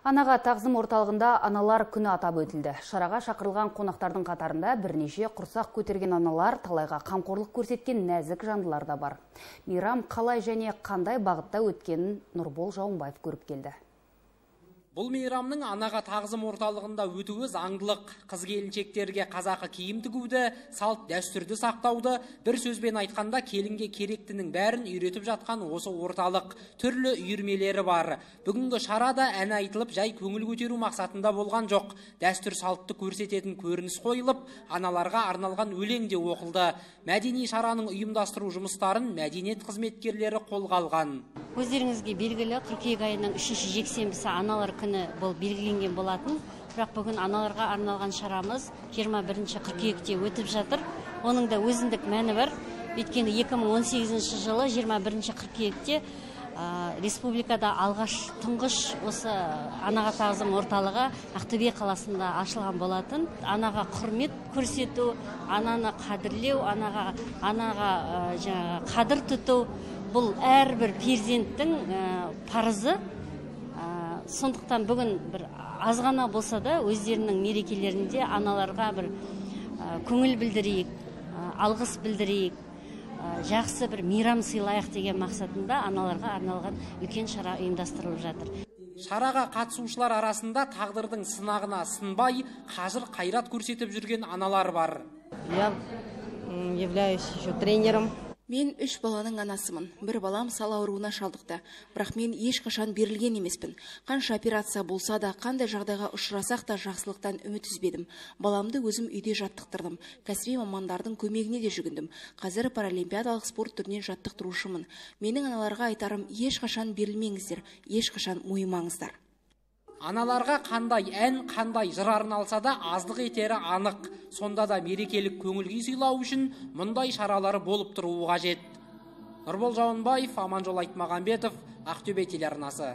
Анаға тағзым орталығында аналар күні атап өтілді. Шараға шақырылған қонақтардың қатарында бірнеше құрсақ көтерген аналар, талайға қамқорлық көрсеткен нәзік жандылар да бар. Мейрам қалай және қандай бағытта өткенін Нұрбол Жауынбаев көріп келді. Бұл мейрамның анаға тағзым орталығында өтуі заңдылық, қыз-келіншектерге қазақы киім тігуді, салт дәстүрді сақтауды, бір сөзбен айтқанда келінге керектінің бәрін үйретіп жатқан осы орталық. Түрлі үйірмелері бар. Бүгінгі шарада ән айтылып, жай көңіл көтеру мақсатында болған жоқ. Дәстүр салтты көрсететін көрініс қойылып, аналарға арналған өлең де оқылды. Мәдени шараның ұйымдастыру жұмыстарын мәдениет қызметкерлері қолға алған. Өздеріңізге белгілі, қыркүйек айының 3-ші жексенбісі аналар күні бұл белгіленген болатын. Бірақ бүгін аналарға арналған шарамыз 21-ші қыркүйекте өтіп жатыр. Оның да өзіндік мәні бар. Өйткені 2018 жылы 21-ші қыркүйекте республикада тұңғыш осы анаға тағзым орталығы Ақтөбе қаласында ашылған болатын. Анаға құрмет көрсету, ананы қадірлеу, анаға қадір тұту бұл әрбір перзенттің парызы. Сондықтан бүгін бір азғана болса да өздерінің мерекелерінде аналарға бір көңіл білдірейік, алғыс білдірейік, жақсы бір мейрам сыйлайық деген мақсатында аналарға арналған үлкен шара ұйымдастырылып жатыр. Шараға қатысушылар арасында тағдырдың сынағына сынбай, қажыр қайрат көрсетіп жүрген аналар бар. Я являюсь еще тренером. Мен 3 баланың анасымын. Бір балам сал ауруына шалдықты. Бірақ мен ешқашан берілген емеспін. Қанша операция болса да, қандай жағдайға ұшырасақ та жақсылықтан үміт үзбедім. Баламды өзім үйде жаттықтырдым. Кәсіби мамандардың көмегіне де жүгіндім. Қазір паралимпиадалық спорт түрінен жаттықтырушымын. Менің аналарға айтарым, ешқашан берілмеңіздер, ешқашан мойымаңыздар. Аналарға қандай ән, қандай жыр арналса да аздық етері анық. Сонда да мерекелік көңіл-күй сыйлау үшін мұндай шаралары болып тұруы қажет. Нұрбол Жауынбаев, Аманжол Айтмағамбетов, Ақтөбе телеарнасы.